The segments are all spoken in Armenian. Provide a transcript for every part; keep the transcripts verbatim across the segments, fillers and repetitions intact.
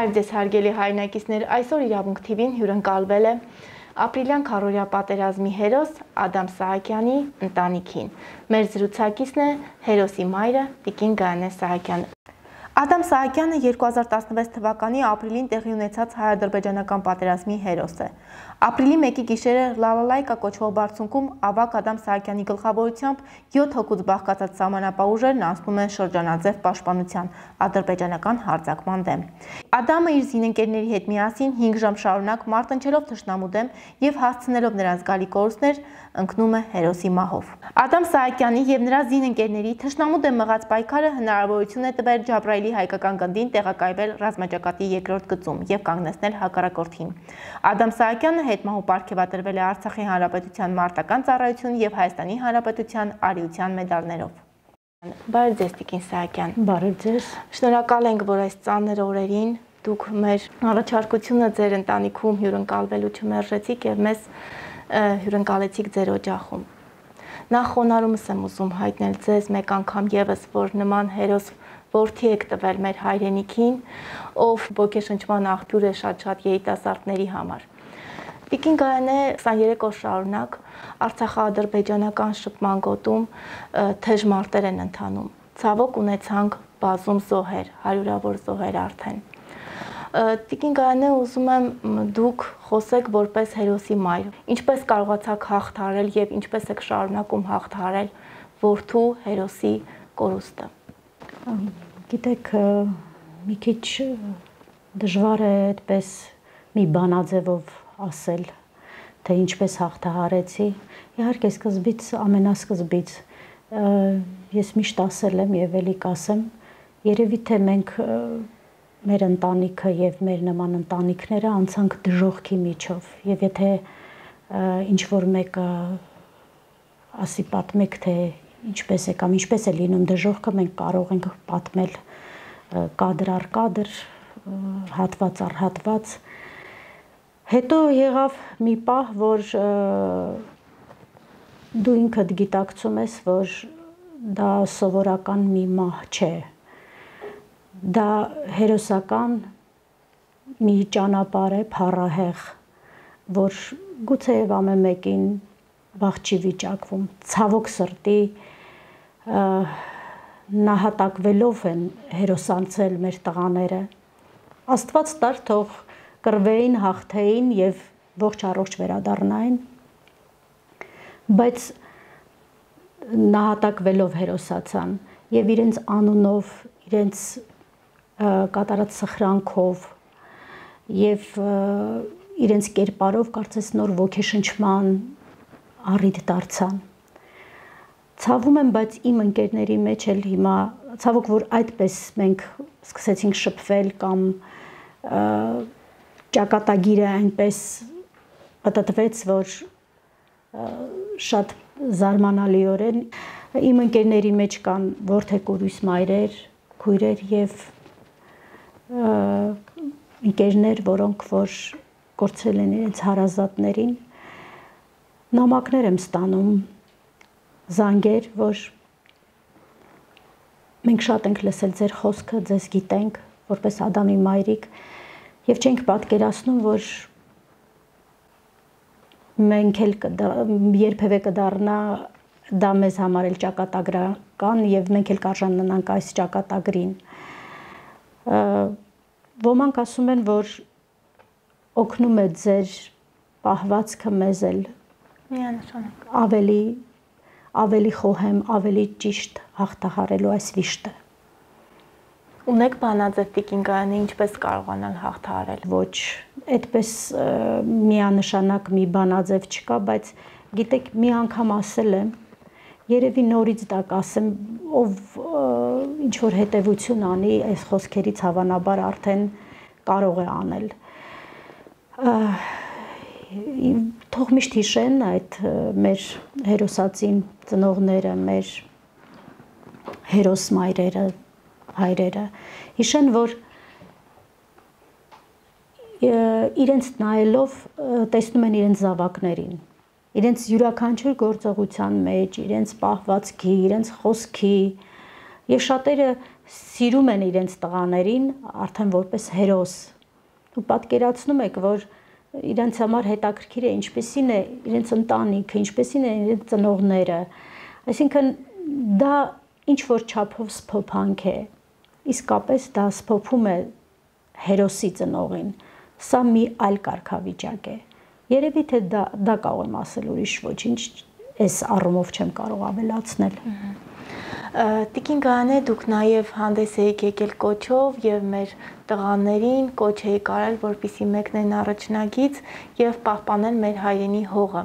Բարև ձեզ հարգելի հայրենակիցներ, այսօր Իրավունք թի վին հյուրընկալվել է ապրիլյան քառօրյա պատերազմի հերոս Ադամ Սահակյանի ընտանիքին։ Մեր զրուցակիցն է հերոսի մայրը տիկին Գայանե Սահակյանը։ Ադամ Սահակյանը երկու հազար տասնվեց թվականի ապրիլին տեղի ունեցած հայ-ադրբեջանական պատերազմի հերոս է։ Ապրիլի մեկի գիշերը Լալալայկա կոչվող բարձունքում ավագ Ադամ Սահակյանի գլխավորությամբ յոթ հոգուց բաղկացած սահմանապահ ուժերն անցնում են շրջանաձև պաշտպանության ադրբեջանական հարձակման դեմ։ Ադամը իր զինընկերների հետ միասին հինգ ժամ շարունակ մարտնչելով թշնամու դեմ եւ հասցնելով նրան զգալի կորուստներ ընկնում է հերոսի մահով։ Ադամ Սահակյանի եւ նրա զինընկերների թշնամու դեմ մղած պայքարը հնարավորություն է տվել Ջաբրայելի հայկական գնդին տեղակայվել ռազմաճակատի երկրորդ գծում եւ կանգնեցնել հակառակորդին։ Ադամ Սահակյանը հետմահու պարգևատրվել է Արցախի Հանրապետության մարտական ծառայություն եւ Հայաստանի Հանրապետության արիության մեդալներով։ Բարև ձեզ տիկին Սահակյան։ Բարև ձեզ։ Շնորհակալ ենք, որ այս ծանր օրերին դուք մեր առաջարկությունը ձեր ընտանիքում հյուրընկալվելու չմերժեցիք եւ մեզ հյուրընկալեցիք ձեր օջախում։ Նախ խոնարհումս եմ ուզում հայտնել ձեզ մեկ անգամ եւս, որ նման հերոս որդի եք տվել մեր հայրենիքին, ով ոգեշնչման աղբյուր է շատ-շատ երիտասարդների համար։ Տիկին Գայանե քսաներեք օր շարունակ Արցախա-ադրբեջանական շփման գոտում թեժ մարտեր են ընթանում։ Ցավոք ունեցանք բազում զոհեր, հարյուրավոր զոհեր արդեն։ Տիկին Գայանե, ուզում եմ դուք խոսեք որպես հերոսի մայր։ Ինչպես կարողացաք հաղթահարել եւ ինչպես եք շարունակում հաղթահարել որդու հերոսի կորուստը։ Գիտեք, մի քիչ դժվար է այդպես մի բանաձևով ասել, թե ինչպես հաղթահարեցի։ Իհարկե սկզբից, ամենասկզբից ես միշտ ասել եմ եւ ելի կասեմ, երևի թե մենք մեր ընտանիքը եւ մեր նման ընտանիքները անցանք դժոխքի միջով եւ եթե ինչ որ մեկը ասի պատմեք թե ինչպես է կամ ինչպես է լինում դժոխքը, մենք կարող ենք պատմել կադր առ կադր, հատված առ հատված։ Հետո եղավ մի պահ, որ դու ինքդ գիտակցում ես, որ դա սովորական մի մահ չէ։ Դա հերոսական մի ճանապարհ է, փառահեղ, որ գուցեև ամեն մեկին վաղ չի վիճակվում, ցավոք սրտի նահատակվելով են հերոսանցել մեր տղաները։ Աստված տար թող կռվեին, հաղթեին եւ ողջ առողջ վերադառնային, բայց նահատակվելով հերոսացան եւ իրենց անունով, իրենց կատարած սխրանքով եւ իրենց կերպարով կարծես նոր ոգեշնչման առիթ դարձան։ Ցավում եմ, բայց իմ ընկերների մեջ էլ հիմա ցավոք որ այդպես մենք սկսեցինք շփվել կամ ճակատագիրը այնպես պատտվեց, որ շատ զարմանալիորեն իմ ընկերների մեջ կան որդեկորույս մայրեր, քույրեր եւ ընկերներ, որոնք որ կորցրել են իրենց հարազատներին, նամակներ եմ ստանում, զանգեր, որ մենք շատ ենք լսել ձեր խոսքը, ձեզ գիտենք, որպես Ադամի մայրիկ, եւ չենք պատկերացնում, որ մենք էլ երբևէ կդառնա դա մեզ համար էլ ճակատագրական եւ մենք էլ կարժանանանք այս ճակատագրին։ Ոմանք ասում են, որ օգնում է ձեր պահվածքը մեզ էլ միանշանակ ավելի ավելի խոհեմ, ավելի ճիշտ հաղթահարելու այս վիշտը։ Ունեք բանաձև տիկին Գայանե, ինչպես կարողանալ հաղթահարել։ Ոչ, այդպես միանշանակ մի բանաձև չկա, բայց գիտեք, մի անգամ ասել եմ, երևի նորից դա կասեմ, ով ինչ որ հետևություն անի, այս խոսքերից հավանաբար արդեն կարող է անել։ Թող միշտ հիշեն այդ մեր հերոսածին ծնողները, մեր հերոս մայրերը, հայրերը, հիշեն, որ իրենց նայելով տեսնում են իրենց զավակներին, իրենց յուրաքանչյուր գործողության մեջ, իրենց պահվածքի, իրենց խոսքի, եւ շատերը սիրում են իրենց տղաներին արդեն որպես հերոս։ Ու պատկերացնում եք, որ իրենց համար հետաքրքիր է ինչպեսին է իրենց ընտանիքը, ինչպեսին է իրենց ծնողները։ Այսինքն դա ինչ որ չափով սփոփանք է։ Իսկապես դա սփոփում է հերոսի ծնողին։ Սա մի այլ կարգավիճակ է։ Երևի թե դա դա կարող եմ ասել, ուրիշ ոչինչ այս առումով չեմ կարող ավելացնել։ Տիկին Գայանե, դուք նաև հանդես եք եկել կոչով եւ մեր տղաներին կոչ եք արել, որպեսզի մեկնեն առաջնագից եւ պահպանեն մեր հայրենի հողը։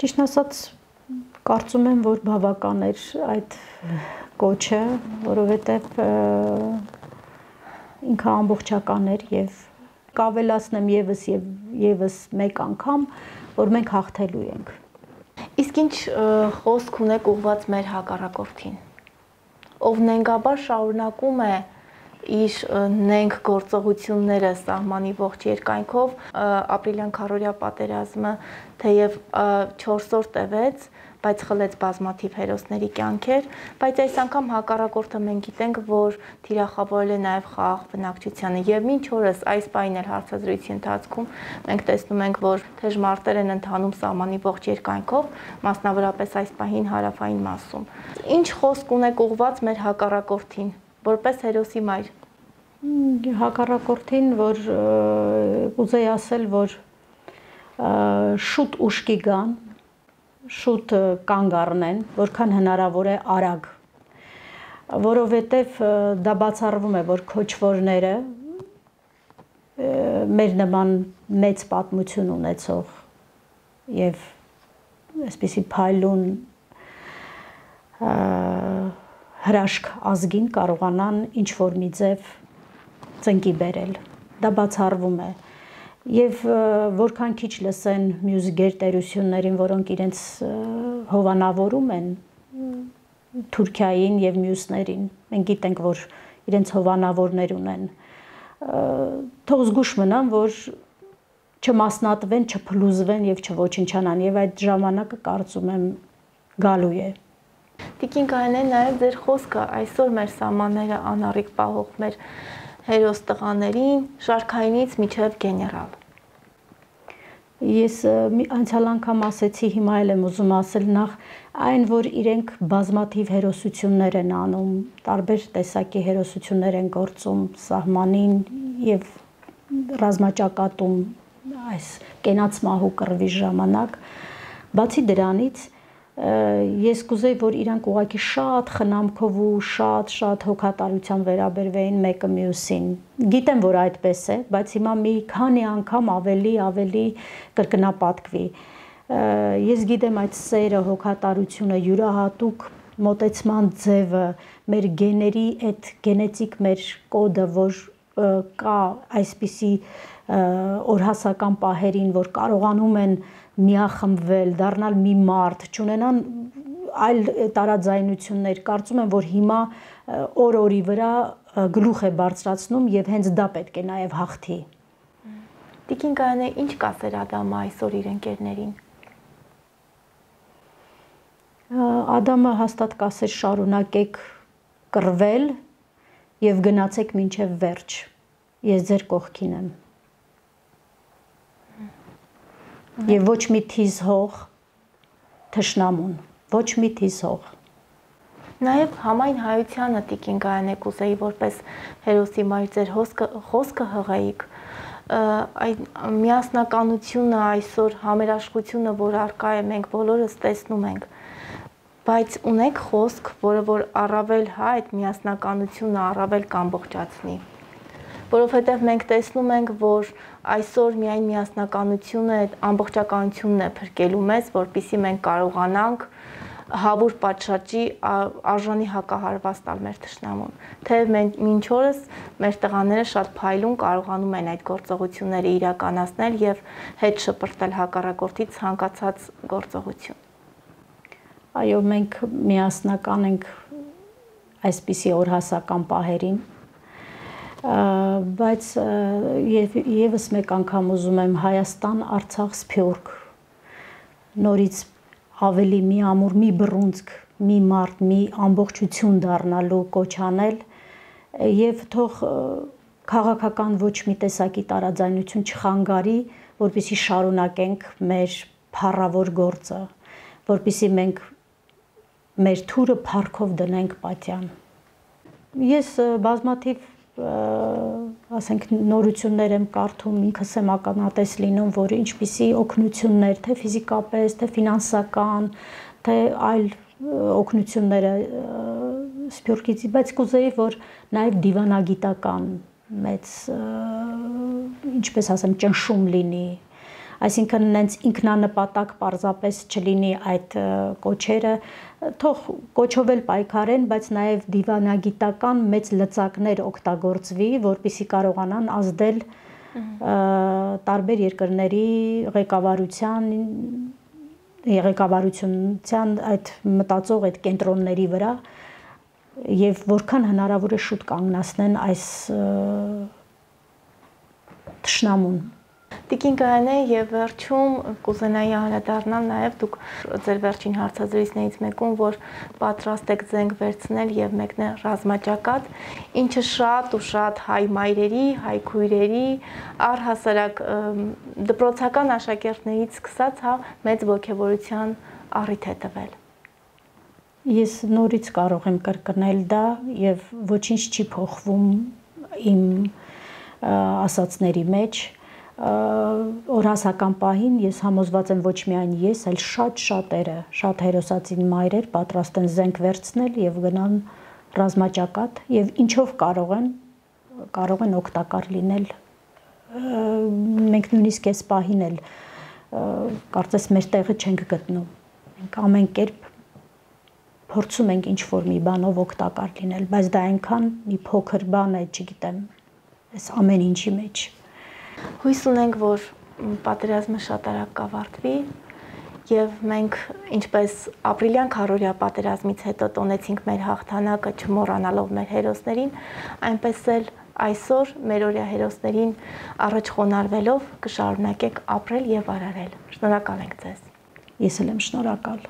Ճիշտ ասած, կարծում եմ, որ բավական էր այդ կոչը, որովհետեւ ինքը ամբողջական էր եւ կավելացնեմ եւս եւ եւս մեկ անգամ, որ մենք հաղթելու ենք։ Իսկ ինչ խոսք ունեք ուղված մեր հակառակորդին, ով նենգաբար շարունակում է իր նենգ գործողությունները սահմանի ողջ երկայնքով, ապրիլյան քարոզիա պատերազմը թեև չորս օր տևեց, բայց խլեց բազմաթիվ հերոսների կյանքեր, բայց այս անգամ հակառակորդը մենք գիտենք, որ թիրախավորել է նաև խաղաղ բնակչությանը եւ մինչ օրս այս պահին էլ հարցազրույցի ընթացքում մենք տեսնում ենք, որ թեժմարտեր են ընթանում սահմանի ողջ երկայնքով, մասնավորապես այս պահին հարավային մասում։ Ինչ խոսք ունեք ուղված մեր հակառակորդին, որպես հերոսի մայր։ Հակառակորդին, որ կուզեի ասել, որ շուտ ուշքի գան, շուտ կանգ առնեն, որքան հնարավոր է արագ, որովհետև դա բացառվում է, որ քոչվորները մեր նման մեծ պատմություն ունեցող եւ այսպիսի փայլուն հրաշք ազգին կարողանան ինչ որ մի ձև ծնկի բերել, դա բացառվում է։ Եվ որքան քիչ լսեն մյուս գերտերություններին, որոնք իրենց հովանավորում են Թուրքիային եւ մյուսներին, մենք գիտենք, որ իրենց հովանավորներ ունեն, թող զգուշ մնան, որ չմասնատվեն, չփլուզվեն եւ չոչնչանան, եւ այդ ժամանակը կարծում եմ գալու է։ Տիկին Գայանե, նաեւ ձեր խոսքը այսօր մեր սահմանները անառիկ պահող մեր հերոս տղաներին շարքայինից միջև գեներալ։ Ես անցյալ անգամ ասեցի, հիմա էլ եմ ուզում ասել, նախ այն, որ իրենք բազմաթիվ հերոսություններ են անում, տարբեր տեսակի հերոսություններ են գործում սահմանին եւ ռազմաճակատում այս կենաց մահու կռվի ժամանակ, բացի դրանից ես կուզեի, որ իրանք ուղղակի շատ խնամքով ու շատ-շատ հոգատարությամբ վերաբերվեին մեկը մյուսին։ Գիտեմ, որ այդպես է, բայց հիմա մի քանի անգամ ավելի ավելի կրկնապատկվի։ Ես գիտեմ այդ սերը, հոգատարությունը, յուրահատուկ մոտեցման ձևը, մեր գեների այդ գենետիկ մեր կոդը, որ կա այսպիսի օրհասական պահերին, որ կարողանում են միախմբվել, դառնալ մի մարդ, չունենան այլ տարաձայնություններ, կարծում եմ, որ հիմա օր-օրի վրա գլուխ է բարձրացնում եւ հենց դա պետք է նաեւ հաղթի։ Տիկին Գայանե, ինչ կասեր Ադամը այսօր իր ընկերներին։ Ադամը հաստատ կասեր շարունակեք կռվել եւ գնացեք մինչեւ վերջ։ Ես ձեր կողքին եմ։ Եվ ոչ մի թիզ հող թշնամուն, ոչ մի թիզ հող։ Նաև համայն հայությանը Տիկին Գայանե կուզեի որպես հերոսի մայր ձեր խոսքը հղեիք, այդ միասնականությունը այսօր համերաշխությունը, որ առկա է, մենք բոլորս տեսնում ենք, բայց ունեք խոսք, որը որ առավել հա այդ միասնականությունը առավել կամբողջացնի։ Որովհետև մենք տեսնում ենք, որ այսօր միայն միասնականությունը, այդ ամբողջականությունն է փրկելու մեզ, որպեսզի մենք կարողանանք հավուր պատշաճի արժանի հակահարված տալ մեր թշնամուն։ Թեև մենք մինչ օրս մեր տղաները շատ փայլուն կարողանում են այդ գործողությունները իրականացնել եւ հետ շպրտել հակառակորդի ցանկացած գործողություն։ Այո, մենք միասնական ենք այսպիսի օրհասական պահերին, բայց եւս մեկ անգամ ուզում եմ Հայաստան, Արցախ, Սփյուռք նորից ավելի մի ամուր, մի բռունցք մի մարդ, մի ամբողջություն դառնալու կոչ անել եւ թող քաղաքական ոչ մի տեսակի տարաձայնություն չխանգարի, որպեսզի շարունակենք մեր փառավոր գործը, որպեսզի մենք մեր թուրը փառքով դնենք պատյան։ Ես բազմաթիվ ասենք նորություններ եմ կարդում, ինքս եմ ականատես լինում, որ ինչպիսի օգնություններ, թե ֆիզիկապես, թե ֆինանսական, թե այլ օգնությունները Սփյուռքից, բայց կուզեի, որ նաև դիվանագիտական մեծ, ինչպես ասեմ, ճնշում լինի, այսինքն նենց ինքնանպատակ պարզապես չլինի այդ կոչերը, թող կոչով էլ պայքարեն, բայց նաև դիվանագիտական մեծ լծակներ օգտագործվի, որպեսզի կարողանան ազդել տարբեր երկրների ղեկավարության ղեկավարության այդ մտածող այդ կենտրոնների վրա եւ որքան հնարավոր է շուտ կանգնացնեն այս թշնամուն։ Տիկին Գայանե, եւ վերջում կուզենայի անդրադառնալ նաեւ դուք ձեր վերջին հարցազրույցներից մեկում, որ պատրաստ եք զենք վերցնել եւ մեկնել ռազմաճակատ, ինչը շատ ու շատ հայ մայրերի, հայ քույրերի, առհասարակ դպրոցական աշակերտներից սկսած, հա, մեծ ոգևորության առիթ է տվել։ Ես նորից կարող եմ կրկնել դա եւ ոչինչ չի փոխվում իմ ասածների մեջ։ Օրհասական պահին ես համոզված եմ ոչ միայն ես, այլ շատ շատերը, շատ հերոսացին մայրեր պատրաստ են զենք վերցնել եւ գնան ռազմաճակատ եւ ինչով կարող են, կարող են օգտակար լինել։ Մենք նույնիսկ այս պահին էլ կարծես մեր տեղը չենք գտնում։ Մենք ամեն կերպ փորձում ենք ինչ-որ մի բանով օգտակար լինել, բայց դա այնքան մի փոքր բան է, չգիտեմ, այս ամեն ինչի մեջ։ Հույս ունենք, որ պատերազմը շատ արագ կավարտվի եւ մենք ինչպես ապրիլյան քառօրյա պատերազմից հետո տոնեցինք մեր հաղթանակը չմոռանալով մեր հերոսներին, այնպես էլ այսօր մեր օրյա հերոսներին առաջ խոնարհվելով կշարունակենք ապրել եւ արարել։ Շնորհակալ ենք ձեզ։ Ես էլ եմ շնորհակալ։